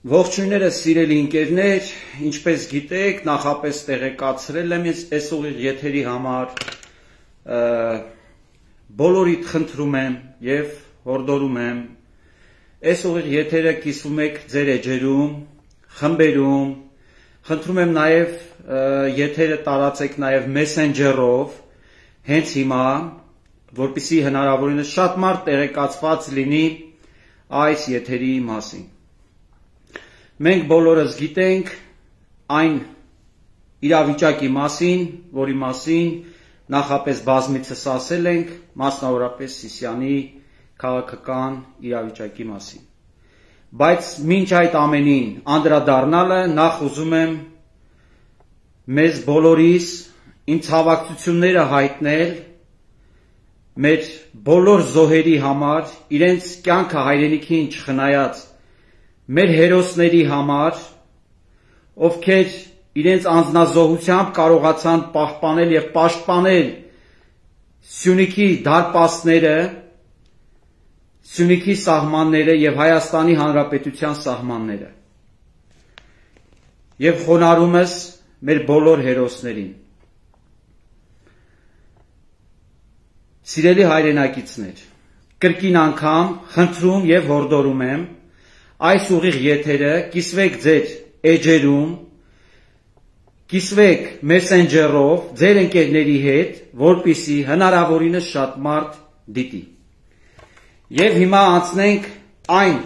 Ողջույններս սիրելի ընկերներ, ինչպես գիտեք, նախապես տեղեկացրել եմ այս ուղիղ եթերի համար, բոլորիդ խնդրում եմ եւ հորդորում եմ, այս ուղիղ եթերը կիսվում եք ձեր էջերում, խմբերում, խնդրում եմ նաեւ եթերը տարածեք նաեւ Messenger-ով, հենց հիմա, որպեսզի հնարավորինս շատ մարդ տեղեկացված լինի այս եթերի մասին։ Մենք բոլորս գիտենք այն իրավիճակի մասին, որի մասին նախապես բազմիցս ասել ենք, մասնավորապես Սիսիանի քաղաքական իրավիճակի մասին։ Բայց մինչ այդ ամենին անդրադառնալը նախ ուզում եմ մեզ բոլորիս իմ ցավակցությունները հայտնել մեր բոլոր զոհերի համար, իրենց կյանքը հայրենիքին չխնայած մեր հերոսների համար, ովքեր իրենց անձնազոհությամբ կարողացան պահպանել եւ պաշտպանել Սյունիքի դարպասները, Սյունիքի սահմանները եւ Հայաստանի Հանրապետության սահմանները։ Եվ խոնարհումս մեր բոլոր հերոսներին։ Սիրելի հայրենակիցներ, կրկին անգամ խնդրում եւ հորդորում եմ այս ուղիղ եթերը կիսվեք ձեր էջերում, կիսվեք Messenger-ով ձեր ընկերների հետ, որպեսզի հնարավորինս շատ մարդ դիտի։ Եվ հիմա անցնենք այն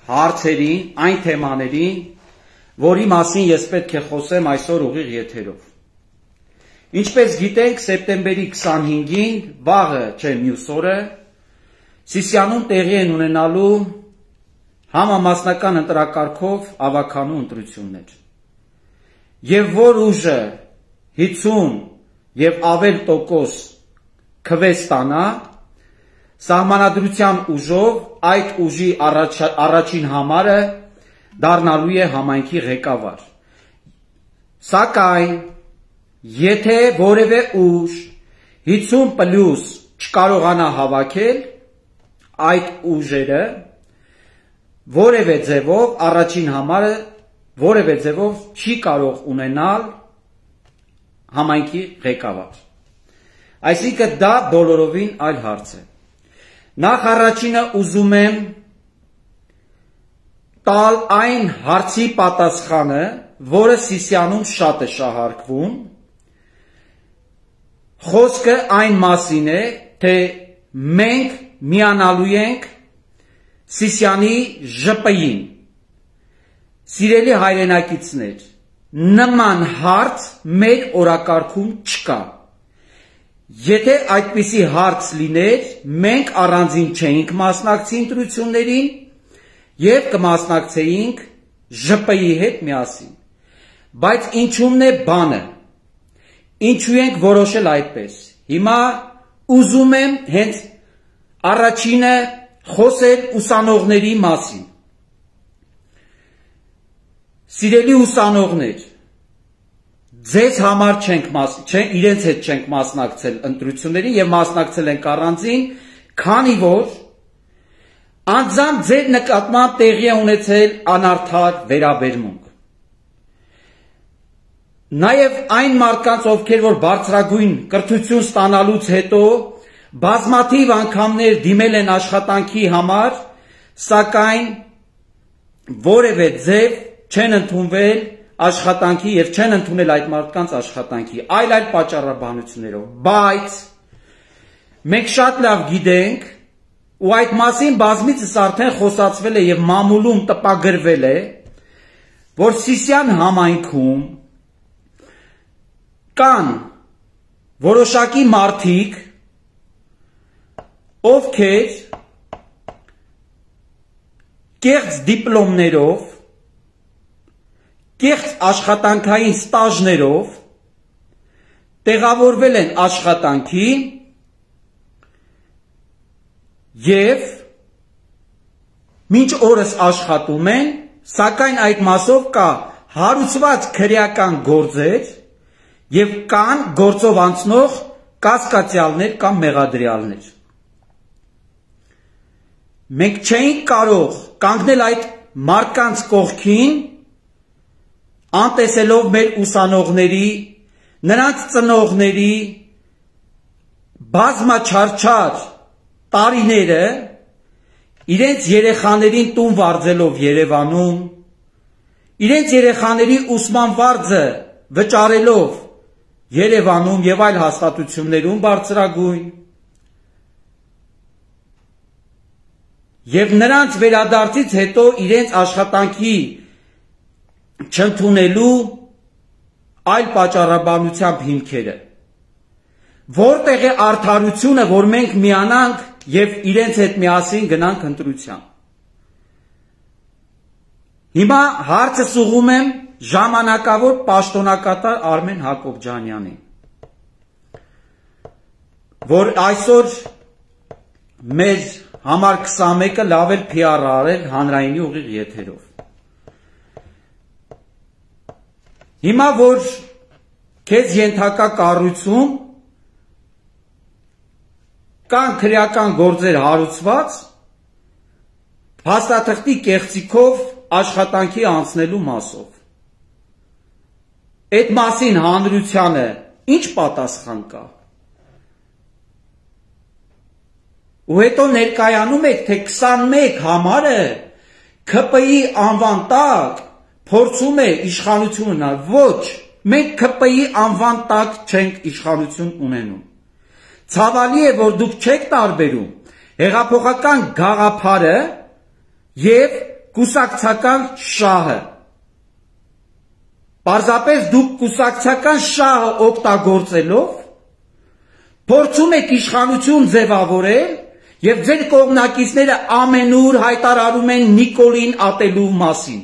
հարցերին, այն թեմաներին, որի մասին ես պետք է խոսեմ այսօր ուղիղ եթերով։ Ինչպես գիտենք, սեպտեմբերի 25-ին, վաղը չէ մյուս օրը, Սիսիանում տեղի են ունենալու համամասնական ընտրակարգով ավականու ընտրություններ։ Եվ որ ուժը 50 եւ ավել տոկոս քվեստանա, սահմանադրության ուժով այդ ուժի առաջին համարը դառնալու է համայնքի ղեկավար։ Սակայն եթե որևէ ուժ 50+ չկարողանա հավաքել այդ ուժերը, որևէ ձևով առաջին համարը որևէ ձևով չի կարող ունենալ համայնքի ղեկավար։ Այսինքն դա բոլորովին այլ հարց է։ Նախ առաջինը ուզում եմ տալ այն հարցի պատասխանը, որը Սիսիանում շատ է շահարկվում։ Խոսքը այն մասին է, թե մենք միանալու ենք Սիսիանի ԺՊ-ին։ Սիրելի հայրենակիցներ, նման հարց մեր օրակարգում չկա։ Եթե այդպիսի հարց լիներ, մենք առանձին չէինք մասնակցի ընտրություններին եւ կմասնակցեինք ԺՊ-ի հետ միասին։ Բայց ինչումն է բանը։ Ինչու ենք որոշել այդպես։ Հիմա ուզում եմ հենց առաջինը խոսել ուսանողների մասին։ Սիրելի ուսանողներ, ձեզ համար իրենց հետ չենք մասնակցել ընտրություններին եւ մասնակցել ենք առանձին, քանի որ անձամբ ձեր նկատմամբ տեղի է ունեցել անարդար վերաբերմունք։ Նաեւ այն մարդկանց, ովքեր որ բարձրագույն կրթություն ստանալուց հետո բազմաթիվ անգամներ դիմել են աշխատանքի համար, սակայն որևէ ձև չեն ընդունվել աշխատանքի եւ չեն ընդունել այդ մարդկանց աշխատանքի, այլ պատճառաբանություններով։ Բայց մենք շատ լավ գիտենք, ու այդ մասին բազմիցս արդեն խոսացվել է եւ մամուլում տպագրվել է, որ Սիսիան համայնքում կան որոշակի մարդիկ, ովքեր կեղծ դիպլոմներով, կեղծ աշխատանքային ստաժներով տեղավորվել են աշխատանքի եւ մինչ օրս աշխատում են, սակայն այդ մասով կա հարուցված քրեական գործեր եւ կան գործով անցնող կասկածյալներ կամ մեղադրյալներ։ Մենք չէինք կարող կանգնել այդ մարդկանց կողքին, անտեսելով մեր ուսանողների, նրանց ծնողների բազմաչարչար տարիները, իրենց երեխաներին տուն վարձելով Երևանում, իրենց երեխաների ուսման վարձը վճարելով Երևանում եւ այլ հաստատություններում բարձրագույն, եւ նրանց վերադարձից հետո իրենց աշխատանքի չընդունելու այլ պատճառաբանությամբ հիմքերը, որտեղ է արդարությունը, որ մենք միանանք եւ իրենց հետ միասին գնանք ընտրության։ Հիմա հարցը ուղղում եմ ժամանակավոր պաշտոնակատար Արմեն Հակոբյանյանին, որ այսօր մեր համար 21-ը լավ էլ PR արել հանրայինի ուղիղ եթերով։ Հիմա որ քեզ ենթակա կառույցում կան քրեական գործեր հարուցված, փաստաթղթի կեղծիքով աշխատանքի անցնելու մասով, այդ մասին հանրությանը ինչ պատասխան կա։ Ու հետո ներկայանում եք, թե 21 համարը ՔՊ-ի անվան տակ փորձում է իշխանություն ունենալ։ Ոչ, մենք ՔՊ-ի անվան տակ չենք իշխանություն ունենում։ Ցավալի է, որ դուք չեք տարբերում հեղափոխական գաղափարը եւ կուսակցական շահը։ Պարզապես դուք կուսակցական շահը օգտագործելով փորձում եք իշխանություն ձևավորել եւ ձեր կողմնակիցները ամենուր հայտարարում են Նիկոլին ատելու մասին։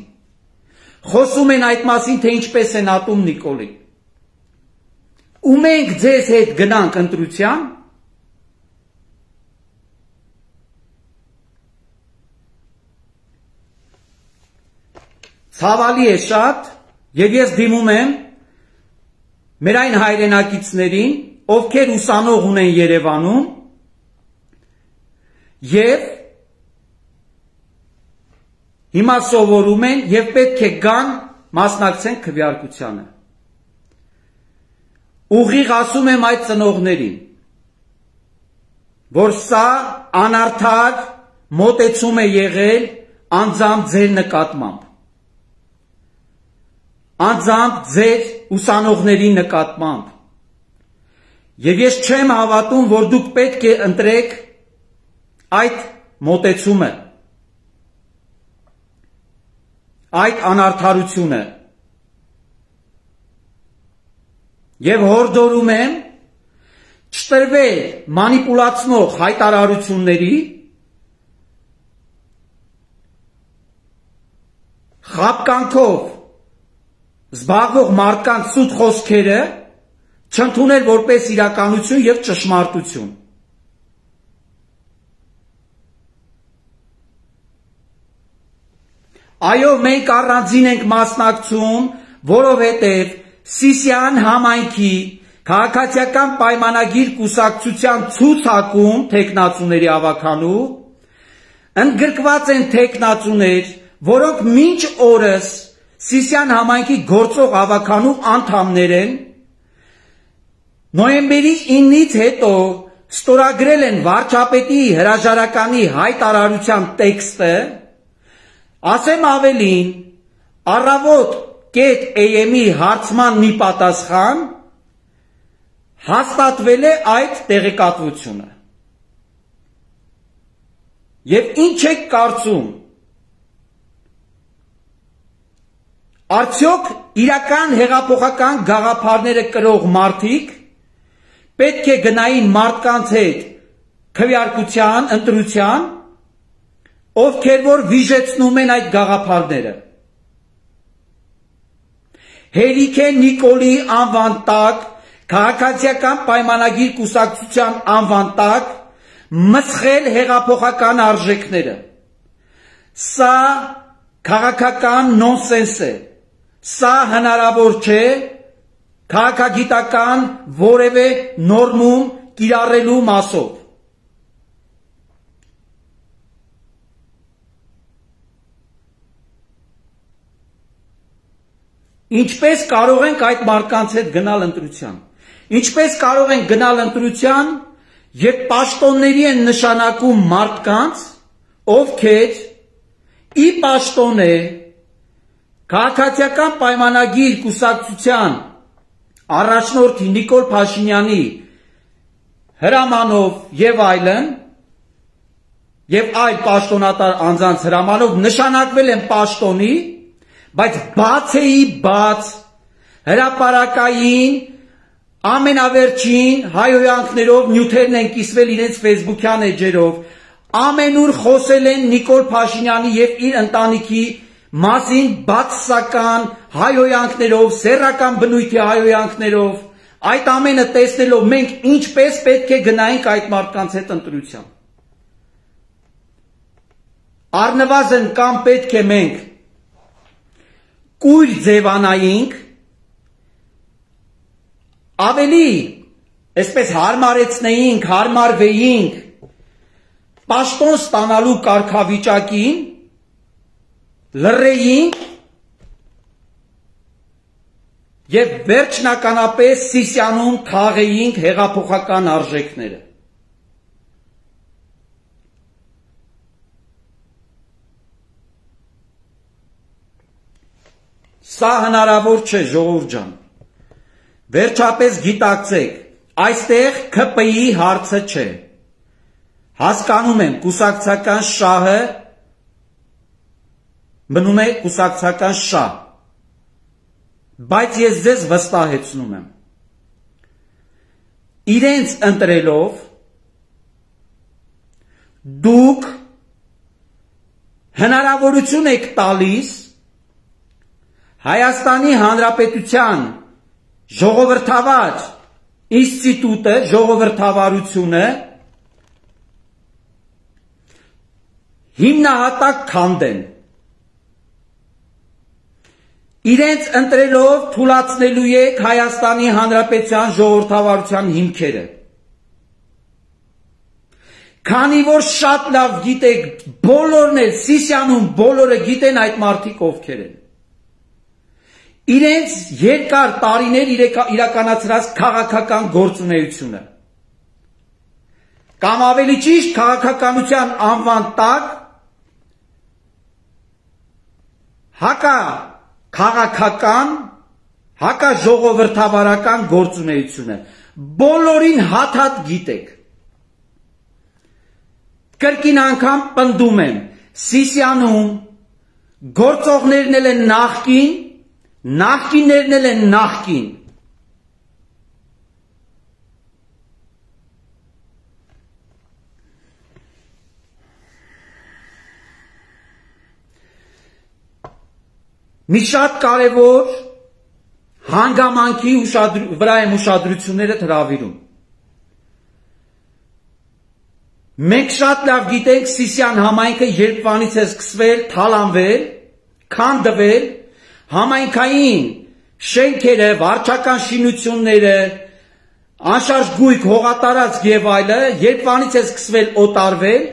Խոսում են այդ մասին, թե ինչպես են ատում Նիկոլին։ Ու մենք ձեզ հետ գնանք ընտրության, ցավալի է շատ, եւ ես դիմում եմ մեր այն հայրենակիցներին, ովքեր ուսանող ունեն Երևանում, եւ հիմա սովորում են եւ պետք է գան մասնակցեն քվեարկությանը։ Ուղիղ ասում եմ այդ ծնողներին, որ սա անարդար մոտեցում է եղել անձամբ ձեր նկատմամբ, անձամբ ձեր ուսանողների նկատմամբ, եւ ես չեմ հավատում, որ դուք պետք է ընտրեք այդ մոտեցումը, այդ անարդարությունը, եւ հորդորում եմ չտրվել մանիպուլացնող հայտարարությունների, խաբկանքով զբաղվող մարդկանց սուտ խոսքերը չընդունել որպես իրականություն եւ ճշմարտություն։ Այո, մենք առանձին ենք մասնակցում, որովհետև Սիսիան համայնքի քաղաքացիական պայմանագիր կուսակցության ցուցակում թեկնածուների ավականու ընդգրկված են թեկնածուներ, որոնք մինչ օրս Սիսիան համայնքի գործող ավականու անդամներ են, նոյեմբերի 9-ից հետո ստորագրել են վարչապետի հրաժարականի հայտարարության տեքստը, ասեմ ավելին, առավոտ AM-ի հարցման մի պատասխան հաստատվել է այդ տեղեկատվությունը։ Եվ ինչ եք կարծում, արդյոք իրական հեղափոխական գաղափարները կրող մարդիկ պետք է գնային մարդկանց հետ քվեարկության, ընտրության, ովքեր որ վիժեցնում են այդ գաղափարները։ Հերիք է Նիկոլի անվան տակ, քաղաքացիական պայմանագիր կուսակցության անվան տակ մսխել հեղափոխական արժեքները։ Սա քաղաքական նոնսենս է։ Սա հնարավոր չէ քաղաքագիտական որևէ նորմում կիրառելու մասով։ Ինչպես կարող ենք այդ մարդկանց հետ գնալ ընտրության։ Ինչպես կարող ենք գնալ ընտրության, երբ պաշտոնների են նշանակում մարդկանց, ովքեր ի պաշտոն է քաղաքացիական պայմանագիր կուսակցության առաջնորդի Նիկոլ Փաշինյանի հրամանով եւ այլն եւ այլ պաշտոնատար անձանց հրամանով նշանակվել են պաշտոնի, բայց բաց հրապարակային ամենավերջին հայհոյանքներով նյութերն են կիսվել իրենց ֆեյսբուքյան էջերով, ամենուր խոսել են Նիկոլ Փաշինյանի եւ իր ընտանիքի մասին բացասական հայհոյանքներով, սեռական բնույթի հայհոյանքներով, այդ ամենը տեսնելով մենք ինչպես պետք է գնայինք այդ մարդկանց հետ ընտրության։ Առնվազն կամ պետք է մենք կույր ձևանայինք, ավելի այսպես հարմարեցնեինք, հարմարվեինք պաշտոն ստանալու կարգավիճակին, լռեինք եւ վերջնականապես Սիսիանում թաղեինք հեղափոխական արժեքները։ Սա հնարավոր չէ, ժողովուրդ ջան։ Վերջապես գիտակցեք, այստեղ ՔՊ-ի հարցը չէ։ Հասկանում եմ, կուսակցական շահը մնում է կուսակցական շահ, բայց ես ձեզ վստահեցնում եմ, իրենց ընտրելով դուք հնարավորություն եք տալիս Հայաստանի Հանրապետության ժողովրդավար ինստիտուտը, ժողովրդավարությունը հիմնահատակ քանդեն։ Իրենց ընտրելով թուլացնելու եք Հայաստանի Հանրապետության ժողովրդավարության հիմքերը։ Քանի որ շատ լավ գիտեք, բոլորն էլ Սիսիանում բոլորը գիտեն այդ մարդիկ ովքեր են։ Իրենց երկար տարիներ իրականացրած քաղաքական գործունեությունը կամ ավելի ճիշտ քաղաքականության անվան տակ հակաքաղաքական, հակաժողովրդավարական գործունեությունը բոլորին հատ գիտեք։ Կրկին անգամ պնդում եմ, Սիսիանում գործողներն էլ են նախկիններն էլ են նախկին։ Մի շատ կարևոր հանգամանքի վրա եմ ուշադրությունները հրավիրում։ Մենք շատ լավ գիտենք Սիսիան համայնքը երբվանից է սկսվել, թալանվել, քանդվել, համայնքային շենքերը, վարչական շինությունները, անշարժ գույք, հողատարածք եւ այլը, երբվանից է սկսվել օտարվել,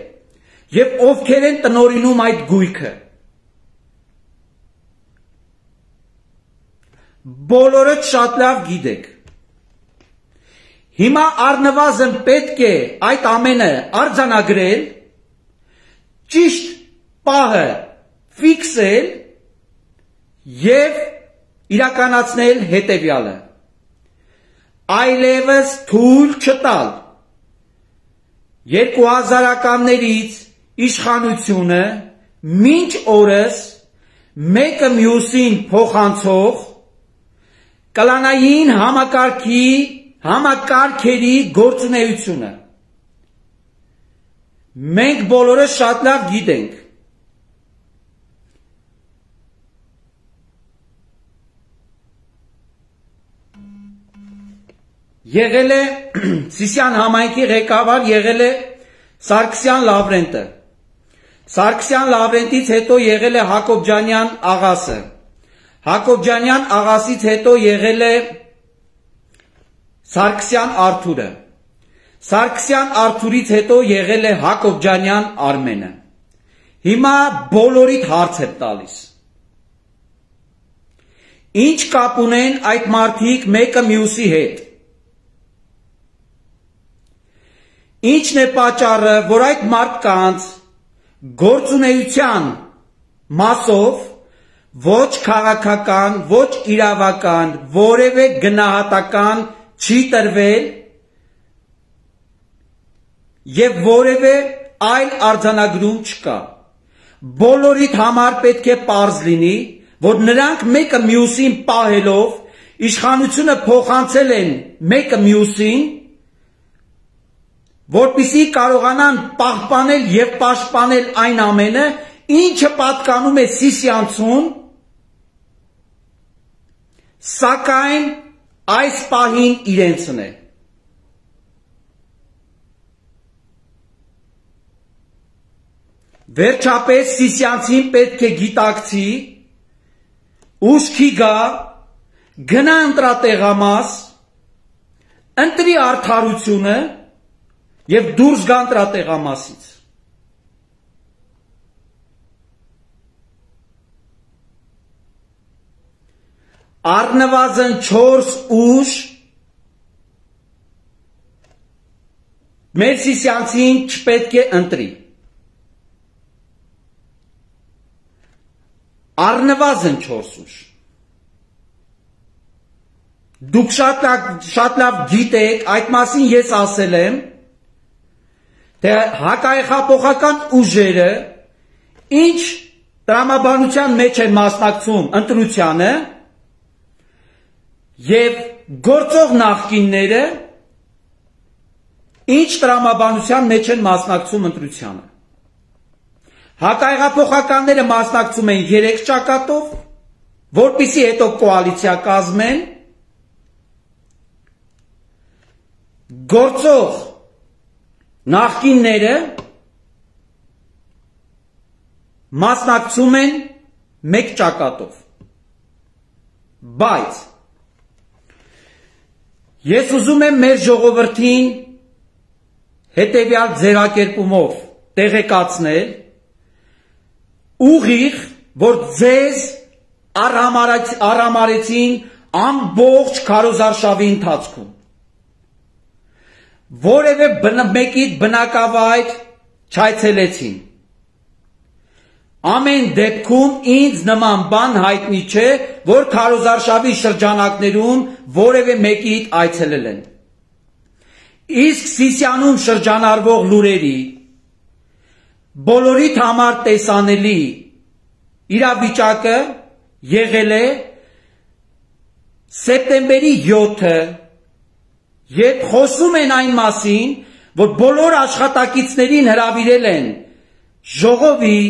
եւ ովքեր են տնօրինում այդ գույքը։ Բոլորը շատ լավ գիտեք։ Հիմա առնվազն պետք է այդ ամենը արձանագրել, ճիշտ պահը ֆիքսել եւ իրականացնել հետեւյալը. այլևս թույլ չտալ 2000-ականներից իշխանությունը մինչ օրս մեկը մյուսին փոխանցող կլանային համակարգերի գործունեությունը։ Մենք բոլորը շատ լավ գիտենք։ Եղել է Սիսիան համայնքի ղեկավար եղել է Սարգսյան Լավրենտը։ Սարգսյան Լավրենտից հետո եղել է Հակոբյանյան աղասը։ Հակոբյանյան աղասից հետո եղել է Սարգսյան Արթուրը։ Սարգսյան Արթուրից հետո եղել է Հակոբյանյան Արմենը։ Հիմա բոլորիդ հարց եմ տալիս։ Ինչ կապ ունեն այդ մարդիկ մեկը մյուսի հետ։ Ինչն է պատճառը, որ այդ մարդկանց գործունեության մասով ոչ քաղաքական, ոչ իրավական, որևէ գնահատական չի տրվել եւ որևէ այլ արձանագրում չկա։ Բոլորիդ համար պետք է պարզ լինի, որ նրանք մեկը մյուսին պահելով իշխանությունը փոխանցել են մեկը մյուսին, որպեսզի կարողանան պահպանել եւ պաշտպանել այն ամենը, ինչը պատկանում է Սիսիանցուն, սակայն այս պահին իրենցն է։ Վերջապես Սիսիանցին պետք է գիտակցի, ուշքի գա, գնա ընտրատեղամաս, ընտրի արդարությունը եւ դուրս գա ընտրատեղամասից։ Առնվազն 4 ուժ մեր Սիսիանցին չպետք է ընտրի։ Առնվազն 4 ուժ։ Դուք շատ լավ գիտեք, այդ մասին ես ասել եմ, թե հակահեղափոխական ուժերը ինչ տրամաբանության մեջ են մասնակցում ընտրությանը եւ գործող նախկինները ինչ տրամաբանության մեջ են մասնակցում ընտրությանը։ Հակահեղափոխականները մասնակցում են 3 ճակատով, որպեսզի հետո կոալիցիա կազմեն, գործող նախկինները մասնակցում են 1 ճակատով։ Բայց ես ուզում եմ մեր ժողովրդին հետևյալ ձեռակերպումով տեղեկացնել, ուղիղ, որ ձեզ արհամարեցին ամբողջ քարոզարշավի ընթացքում։ Որևէ մեկիդ բնակավայր չայցելեցին։ Ամեն դեպքում ինձ նման բան հայտնի չէ, որ քարոզարշավի շրջանակներում որևէ մեկիդ այցելել են։ Իսկ Սիսիանում շրջանառվող լուրերի բոլորիդ համար տեսանելի իրավիճակը եղել է սեպտեմբերի 7-ը, երբ խոսում են այն մասին, որ բոլոր աշխատակիցներին հրավիրել են ժողովի,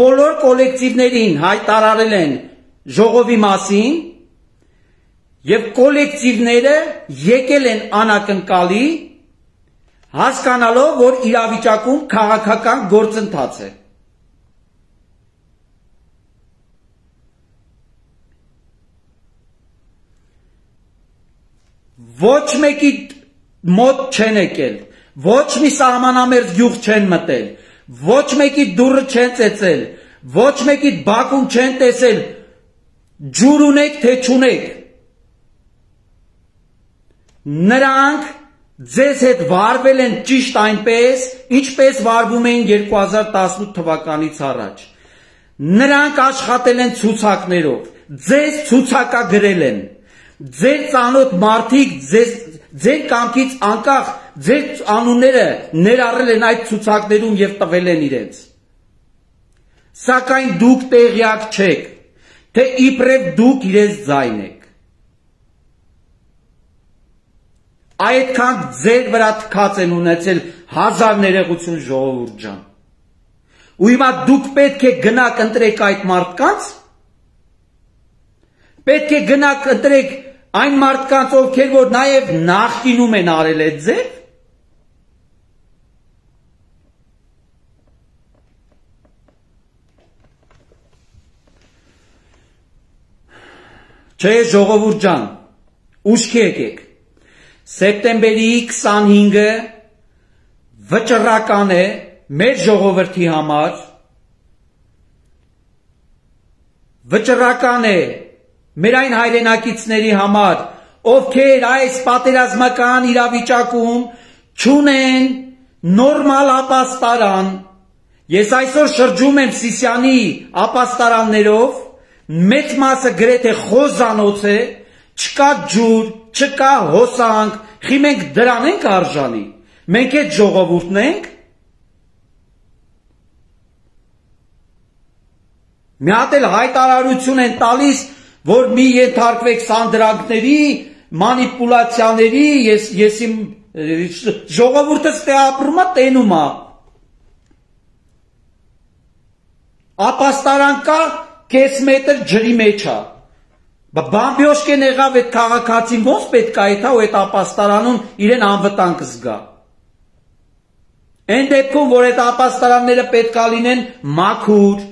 բոլոր կոլեկտիվներին հայտարարել են ժողովի մասին եւ կոլեկտիվները եկել են անակնկալի, հասկանալով, որ իրավիճակում քաղաքական գործընթաց է։ Ոչ մեկի մոտ չեն եկել, ոչ մի սահմանամերձ գյուղ չեն մտել, ոչ մեկի դուռը չեն ծեծել, ոչ մեկի բակում չեն տեսել, ջուր ունեք, թե չունեք։ Նրանք ձեզ հետ վարվել են ճիշտ այնպես, ինչպես վարվում էին 2018 թվականից առաջ։ Նրանք աշխատել են ցուցակներով, ձեզ ցուցակագրել են, ձեր ծանոթ մարդիկ ձեր կամքից անկախ ձեր անունները ներառել են այդ ցուցակներում եւ տվել են իրենց։ Սակայն դուք տեղյակ չեք, թե իբրև դուք իրենց ձայն եք։ Այդքան ձեր վրա թքած են ունեցել հազար ներողություն ժողովուրդ ջան։ Ու հիմա դուք պետք է գնաք ընտրեք այդ մարդկանց, պետք է գնաք ընտրեք այն մարդկանց, ովքեր որ նաև նախկինում են արել այդ ձև։ Չէ, ժողովուրդ ջան, ուշքի եկեք։ Սեպտեմբերի 25-ը վճռական է մեր ժողովրդի համար, վճռական է մեր այն հայրենակիցների համար, ովքեր այս պատերազմական իրավիճակում չունեն նորմալ ապաստարան։ Ես այսօր շրջում եմ Սիսիանի ապաստարաններով, մեծ մասը գրեթե խոզանոց է, չկա ջուր, չկա հոսանք, խի մենք դրան ենք արժանի, մենք այդ ժողովուրդն ենք։ Մի հատ էլ հայտարարություն են տալիս, որ մի ենթարկվեք սանդրանքների, մանիպուլացիաների, ես իմ ժողովուրդը ստե ապրում է, տենում է։ Ապաստարան կա, կես մետր ջրի մեջ է։ Բամբյոշկեն եղավ այդ քաղաքացին ոնց պետք է այդ ու այդ ապաստարանում իրեն անվտանգ զգա։ Այն դեպքում, որ այդ ապաստարանները պետք է լինեն մաքուր,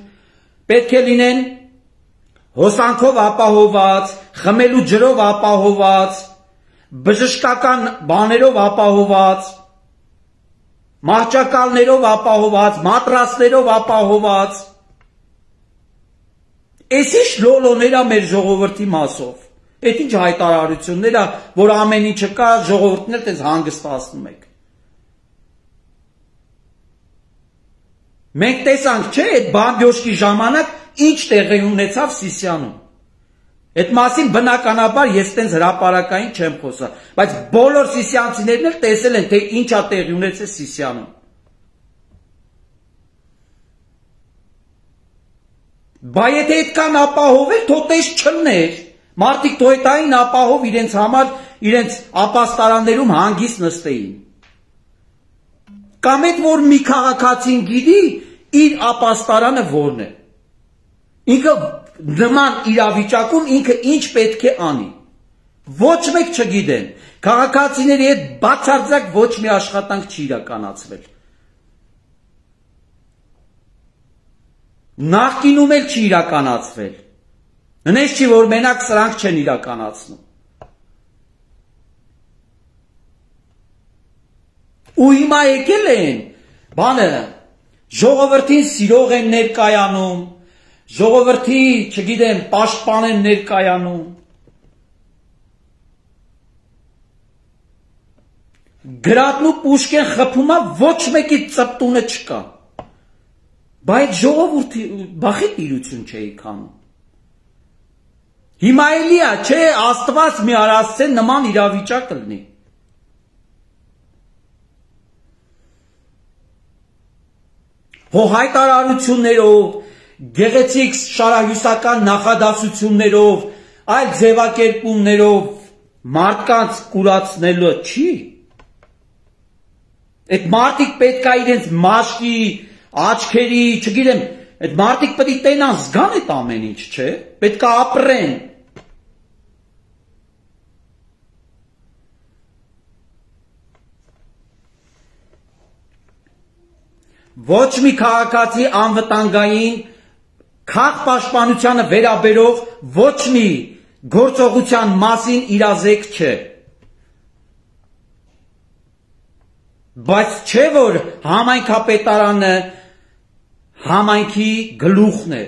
պետք է լինեն հոսանքով ապահոված, խմելու ջրով ապահոված, բժշկական բաներով ապահոված, մահճակալներով ապահոված, մատրասներով ապահոված։ Էս ինչ լոլոներա մեր ժողովրդի մասով։ Այդ ինչ հայտարարություններա, որ ամեն ինչը կա, ժողովուրդն էլ տես հանգստացնում եք։ Մենք տեսանք, չէ, այդ բամբյոշկի ժամանակ ինչ տեղի ունեցավ Սիսիանում։ Այդ մասին բնականաբար ես տենց հրապարակային չեմ խոսա, բայց բոլոր սիսիանցիներն էլ տեսել են, թե ինչա տեղի ունեցել Սիսիանում։ Բա եթե այդքան ապահովել, թո տես չլներ, մարդիկ թո այդային ապահով իրենց համար, իրենց ապաստարաններում հանգիստ նստեին։ Կամ այդ որ մի քաղաքացին գիտի, իր ապաստարանը որն է։ Ինքը նման իրավիճակում ինքը ինչ պետք է անի։ Ոչ մեկ չգիտեն, քաղաքացիների հետ բացարձակ ոչ մի աշխատանք չի իրականացվել։ Նախկինում էլ չի իրականացվել։ Նենց չի, որ մենակ սրանք չեն իրականացնում։ Ու հիմա եկել են, բանը, ժողովրդին սիրող են ներկայանում, ժողովրդի, չգիտեմ, պաշտպան են ներկայանում։ Գրատնու Պուշկեն խփումա ոչ մեկի ծպտունը չկա։ Բայց ժողովուրդի բախի տիրություն չէի քանում։ Հիմա էլիա, չէ, Աստված մի արասցե նման իրավիճակ լինի։ Հո հայտարարություններով, գեղեցիկ շարահյուսական նախադասություններով, այլ ձևակերպումներով մարդկանց կուրացնելը չի։ Այդ մարդիկ պետք է իրենց մաշկի, աչքերի, չգիտեմ, այդ մարդիկ պետք է տենան զգան այդ ամեն ինչ, չէ, պետք է ապրեն։ Ոչ մի քաղաքացի անվտանգային քաղաքապաշտպանությանը վերաբերող ոչ մի գործողության մասին իրազեկ չէ։ Բայց չէ որ համայնքապետարանը համայնքի գլուխն է,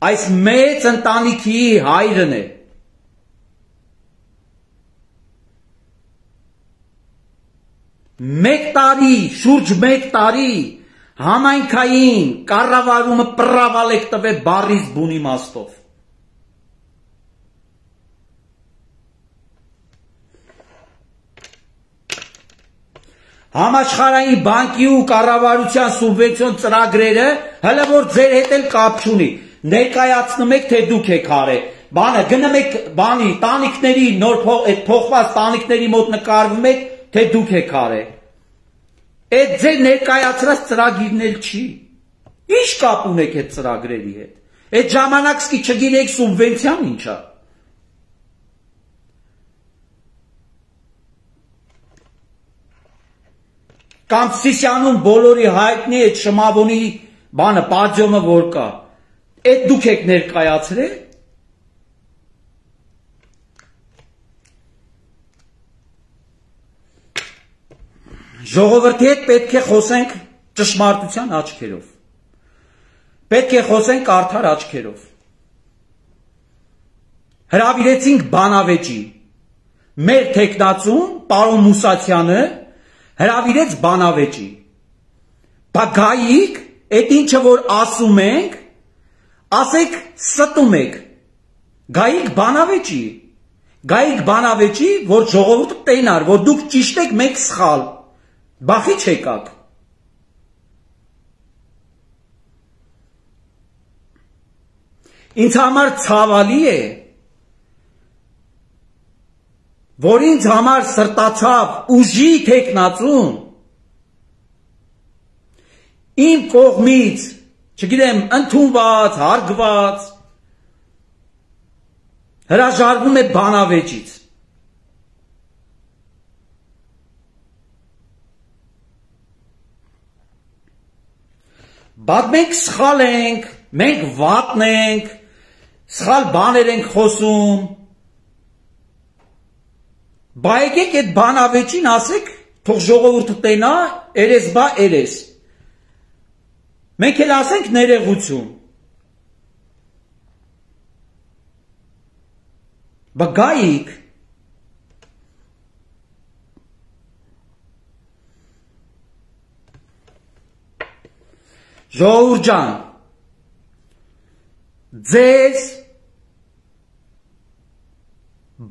այս մեծ ընտանիքի հայրն է։ Մեկ տարի, շուրջ մեկ տարի համայնքային կառավարումը պրավալեք տվե բառից բուն իմաստով։ Համաշխարհային բանկի ու կառավարության սուբվենցիոն ծրագրերը հələ որ ձեր հետ էլ կապ չունի։ Ներկայացնում եք թե դուք եք արել։ Բանը գնում եք բանի տանիքների նոր փոխված տանիքների մոտ նկարվում եք թե դուք եք արել։ Այդ ձեր ներկայացրած ծրագիրն էլ չի։ Ինչ կապ ունեք այդ ծրագրերի հետ։ Այդ ժամանակ սկի չգիտեք սուբվենցիան ինչ է։ Կամ Սիսիանում բոլորի հայտնի այդ Շմավոնի բանը պատժոմը որ կա։ Այդ դուք եք ներկայացրել։ Ժողովրդի հետ պետք է խոսենք ճշմարտության աչքերով։ Պետք է խոսենք արդար աչքերով։ հրավիրեցինք բանավեճի, մեր թեկնածուն, պարոն Մուսացյանը, հրավիրեց բանավեճի, բա գայիք, այդ ինչը որ ասում ենք, ասեք ստում եք, գայիք բանավեճի, որ ժողովուրդը տենար, որ դուք ճիշտ եք, մենք սխալ, բախի չեկաք, ինձ համար ցավալի է, որ ինձ համար սրտացավ ուժի թեկնածուն, իմ կողմից, չգիտեմ, ընդունված, հարգված, հրաժարվում է բանավեճից, բայց մենք սխալ ենք, մենք վատն ենք, սխալ բաներ ենք խոսում, բա եկեք այդ բանավեճին ասեք, թող ժողովուրդը տենա, երես բա երես, մենք էլ ասենք ներողություն, բա գայիք, ժողովուրդ ջան, ձեզ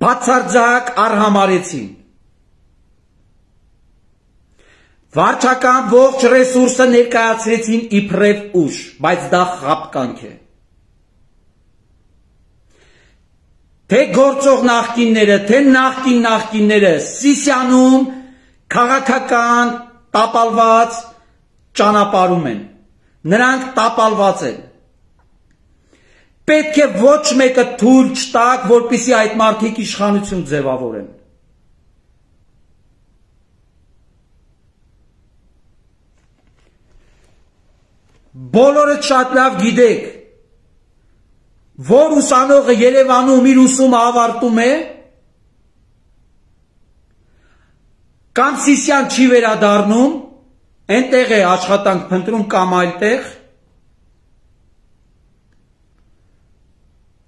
բացարձակ արհամարեցին, վարչական ողջ ռեսուրսը ներկայացրեցին իբրև ուժ, բայց դա խաբկանք է, թե գործող նախկինները, թե նախկինները Սիսիանում քաղաքական տապալված ճանապարհում են, նրանք տապալված են, պետք է ոչ մեկը թույլ չտաք, որպեսզի այդ մարդիկ իշխանություն ձևավորեն։ Բոլորը շատ լավ գիտեք, որ ուսանողը Երևանում իր ուսումը ավարտում է, կամ Սիսիան չի վերադառնում, այնտեղ է աշխատանք փնտրում կամ այլտեղ,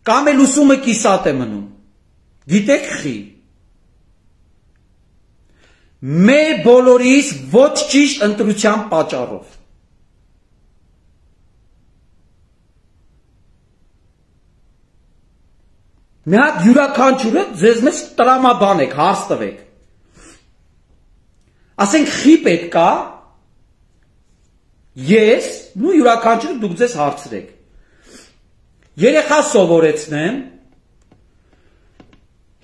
կամ էլ ուսումը կիսատ է մնում, գիտեք խի, մեր բոլորիս ոչ ճիշտ ընտրության պատճառով, մի հատ յուրաքանչյուրը ձեզ մեզ տրամաբան եք, հարց տվեք, ասենք խի պետք է, ես, ու յուրաքանչյուրը դուք ձեզ հարցրեք, երեխա սովորեցնեմ,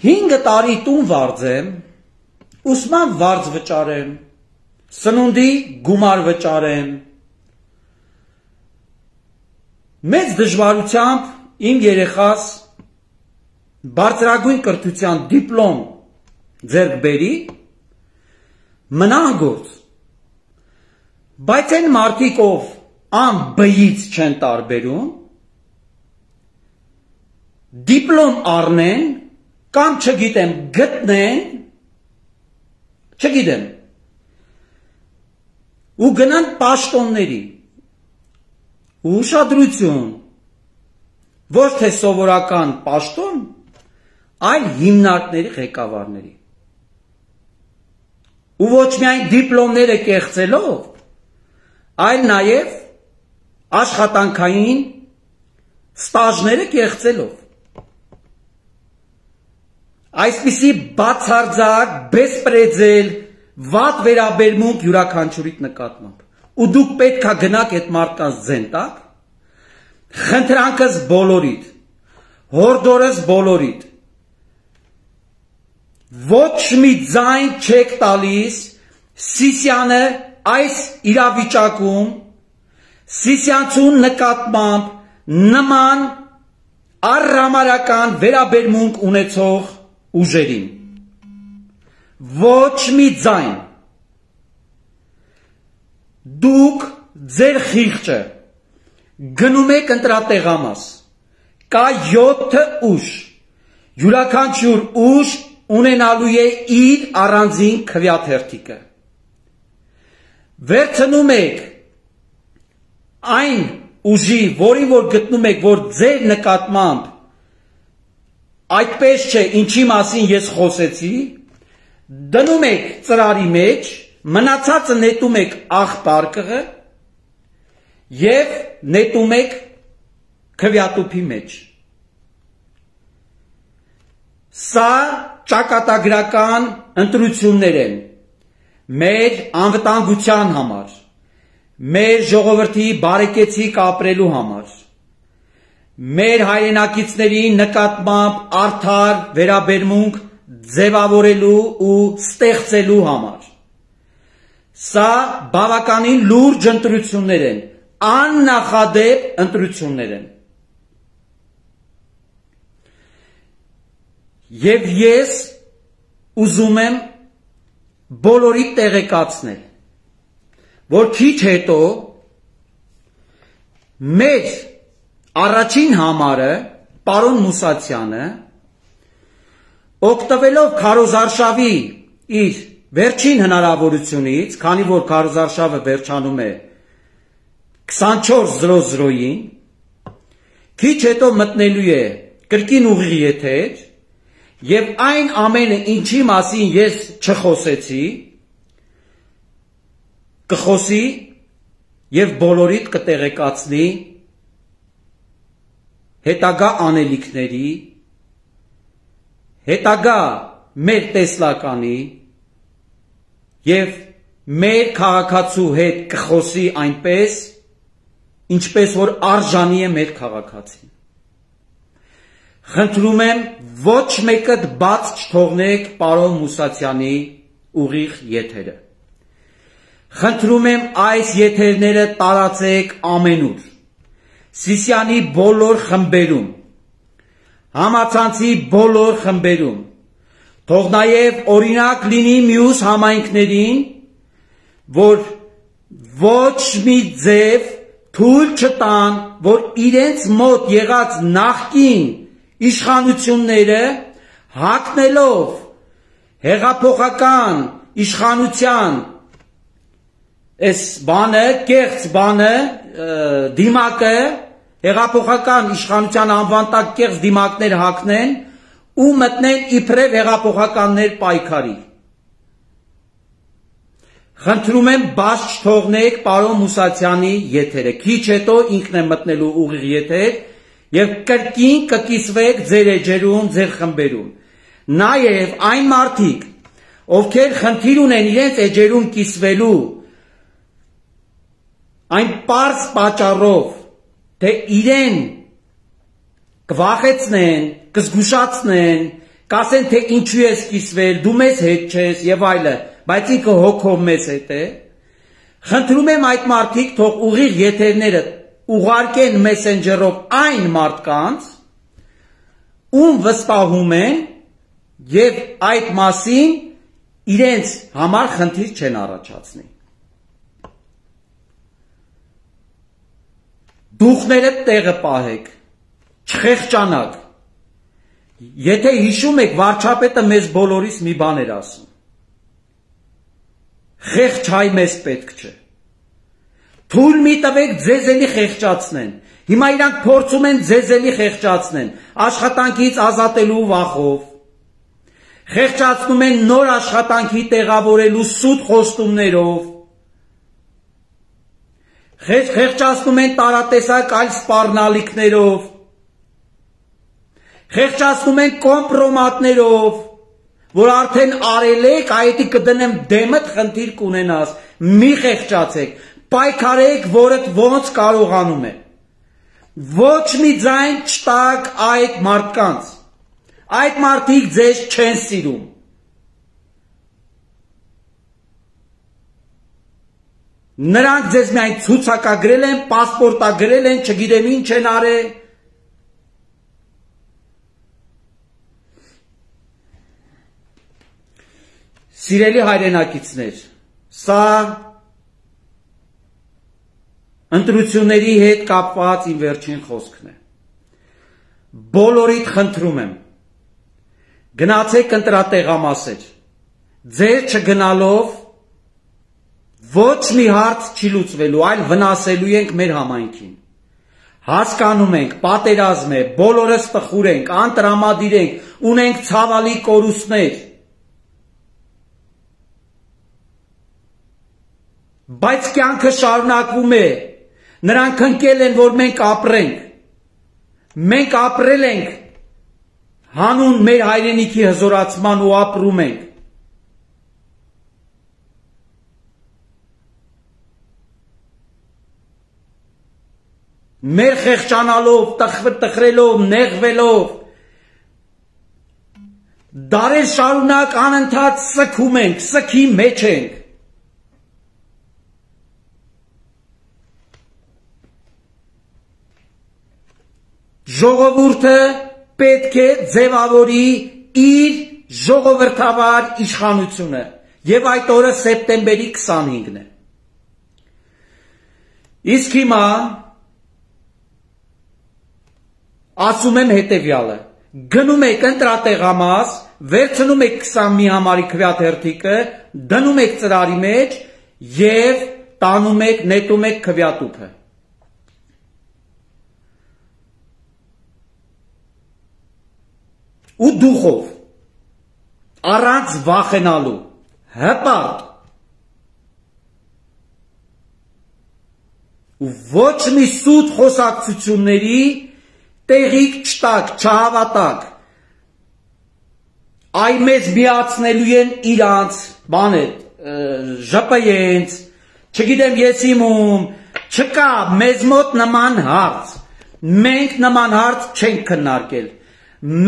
5 տարի տուն վարձեմ, ուսման վարձ վճարեմ, սնունդի գումար վճարեմ, մեծ դժվարությամբ իմ երեխաս բարձրագույն կրթության դիպլոմ ձեռք բերի, մնան գործ, բայց այն մարդիկ, ով անբյից չեն տարբերում, դիպլոմ առնեն, կամ չգիտեմ, գտնեն, չգիտեմ, ու գնան պաշտոնների, ու ուշադրություն, ոչ թե սովորական պաշտոն, այլ հիմնարկների ղեկավարների, ու ոչ միայն դիպլոմները կեղծելով, այլ նաև աշխատանքային ստաժները կեղծելով, այսպիսի բացարձակ, բեսպրեձել, վատ վերաբերմունք յուրաքանչյուրիդ նկատմամբ, ու դուք պետք է գնաք այդ մարդկանց ձեն տակ, խնդրանքս բոլորիդ, հորդորս բոլորիդ, ոչ մի ձայն չեք տալիս Սիսիանը այս իրավիճակում Սիսիանցու նկատմամբ նման առհամարական վերաբերմունք ունեցող ուժերին, ոչ մի ձայն, դուք ձեր խիղճը գնում եք ընտրատեղամաս, կա 7 ուժ, յուրաքանչյուր ուժ ունենալու է իր առանձին քվեաթերթիկը, վերցնում եք այն ուժի, որին որ գտնում եք, որ ձեր նկատմամբ այդպես չէ, ինչի մասին ես խոսեցի, դնում եք ծրարի մեջ, մնացածը նետում եք աղբարկղը և նետում եք քվյատուփի մեջ։ Սա ճակատագրական ընտրություններ են մեր անվտանգության համար, մեր ժողովրդի բարեկեցիկ ապրելու համար, մեր հայրենակիցների նկատմամբ արդար վերաբերմունք ձևավորելու ու ստեղծելու համար։ Սա բավականին լուրջ ընտրություններ են, աննախադեպ ընտրություններ են։ Եվ ես ուզում եմ բոլորի տեղեկացնել, որ քիչ հետո մեր առաջին համարը, պարոն Մուսացյանը, օգտվելով քարոզարշավի իր վերջին հնարավորությունից, քանի որ քարոզարշավը վերջանում է 24:00-ին, քիչ հետո մտնելու է կրկին ուղիղ եթեր և այն ամենը, ինչի մասին ես չխոսեցի, կխոսի և բոլորիդ կտեղեկացնի հետագա անելիքների, հետագա մեր տեսլականի և մեր քաղաքացու հետ կխոսի այնպես, ինչպես որ արժանի է մեր քաղաքացին։ Խնդրում եմ ոչ մեկդ բաց չթողնեք պարոն Մուսացյանի ուղիղ եթերը։ Խնդրում եմ այս եթերները տարածեք ամենուր, Սիսիանի բոլոր խմբերում, համացանցի բոլոր խմբերում, թող նաև օրինակ լինի մյուս համայնքներին, որ ոչ մի ձև թույլ չտան, որ իրենց մոտ եղած նախկին իշխանությունները հակնելով հեղափոխական իշխանության այս բանը, կեղծ բանը, դիմակը, հեղափոխական իշխանության անվան տակ կեղծ դիմակներ հակնեն ու մտնեն իբրև հեղափոխականներ պայքարի։ Խնդրում եմ բաց չթողնեք պարոն Մուսացյանի եթերը, քիչ հետո ինքն է մտնելու ուղիղ եթեր և կրկին կկիսվեք ձեր էջերում, ձեր խմբերում։ Նաև այն մարդիկ, ովքեր խնդիր ունեն իրենց էջերում կիսվելու, այն պարզ պատճառով, թե իրեն կվախեցնեն, կզգուշացնեն, կասեն, թե ինչու ես կիսվել, դու մեզ հետ չես և այլը, բայց ինքը հոգով մեզ հետ է, խնդրում եմ այդ մարդիկ թող ուղիղ եթերները ուղարկեն մեսենջերով այն մարդկանց, ում վստահում են և այդ մասին իրենց համար խնդիր չեն առաջացնի։ Դուխները տեղը պահեք, չխեղճանաք։ Եթե հիշում եք, վարչապետը մեզ բոլորիս մի բան էր ասում։ Խեղճ հայ մեզ պետք չէ։ Թույլ մի տվեք ձեզ էլի խեղճացնեն։ Հիմա իրանք փորձում են ձեզ էլի խեղճացնեն, աշխատանքից ազատելու վախով։ Խեղճացնում են նոր աշխատանքի տեղավորելու սուտ խոստումներով։ Խեղճացնում են տարատեսակ այլ սպառնալիքներով։ Խեղճացնում են կոմպրոմատներով, որ արդեն արել եք, այդի կդնեմ դեմդ խնդիր կունենաս, մի խեղճացեք, պայքարեք, որդ ոնց կարողանում է։ Ոչ մի ձայն չտակ այդ մարդկանց, այդ մարդիկ ձեզ չեն սիրում։ Նրանք ձեզ միայն ցուցակագրել են, պասպորտագրել են, չգիտեմ ինչ են արել։ Սիրելի հայրենակիցներ, սա ընտրությունների հետ կապված իմ վերջին խոսքն է։ Բոլորիդ խնդրում եմ, գնացեք ընտրատեղամասեր, ձեր չգնալով ոչ մի հարց չի լուծվելու, այլ վնասելու ենք մեր համայնքին։ Հասկանում ենք, պատերազմ է, բոլորս տխուր ենք, անտրամադիր ենք, ունենք ցավալի կորուստներ։ Բայց կյանքը շարունակվում է։ Նրանք ընկել են, որ մենք ապրենք։ Մենք ապրել ենք հանուն մեր հայրենիքի հզորացման ու ապրում ենք։ Մեր խեղճանալով, տխրելով, նեղվելով, դարեր շարունակ անընդհատ սգում ենք, սգի մեջ ենք։ Ժողովուրդը պետք է ձևավորի իր ժողովրդավար իշխանությունը, եւ այդ օրը սեպտեմբերի 25-ն է։ Իսկ հիմա ասում եմ հետևյալը. գնում եք ընտրատեղամաս, վերցնում եք 20 մի համարի քվյաթերթիկը, դնում եք ծրարի մեջ եւ տանում եք, նետում եք քվյատուփը։ Ու դուխով, առանց վախենալու, հպարտ, ու ոչ մի սուտ խոսակցությունների տեղիք չտակ, չհավատակ, այ մեզ միացնելու են իրանց, ԺՊ-ենց, չգիտեմ ես իմում, չկա մեզ մոտ նման հարց, մենք նման հարց չենք քննարկել,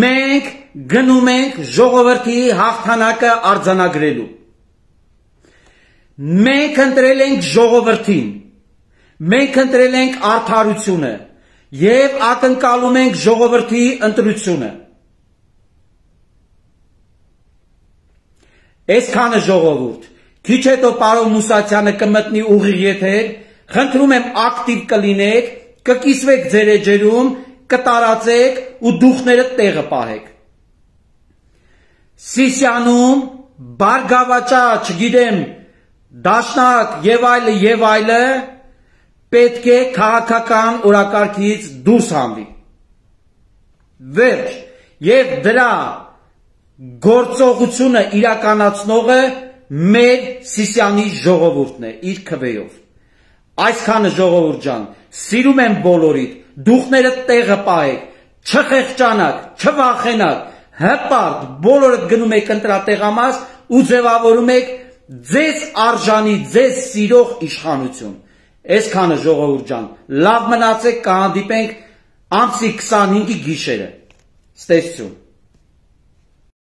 մենք գնում ենք ժողովրդի հաղթանակը արձանագրելու, մենք ընտրել ենք ժողովրդին, մենք ընտրել ենք արդարությունը, եւ ակնկալում ենք ժողովրդի ընտրությունը։ Այսքանը ժողովուրդ, քիչ հետո պարոն Մուսացյանը կմտնի ուղիղ եթեր, խնդրում եմ ակտիվ կլինեք, կկիսվեք ձեր էջերում, կտարածեք ու դուխները տեղը պահեք։ Սիսիանում, Բարգավաճա, չգիտեմ, Դաշնակ եւ այլը, պետք է քաղաքական օրակարգից դուրս հանվի։ Վերջ, եւ դրա գործողությունը իրականացնողը մեր Սիսիանի ժողովուրդն է, իր քվեով։ Այսքանը ժողովուրդ ջան, սիրում եմ բոլորիդ, դուխները տեղը պահեք, չխեղճանաք, չվախենաք, հպարտ բոլորդ գնում եք ընտրատեղամաս ու ձևավորում եք ձեզ արժանի, ձեզ սիրող իշխանություն։ Այսքանը ժողովուրդ ջան, լավ մնացեք, կհանդիպենք ամսի 25-ի գիշերը։ Ստեսություն։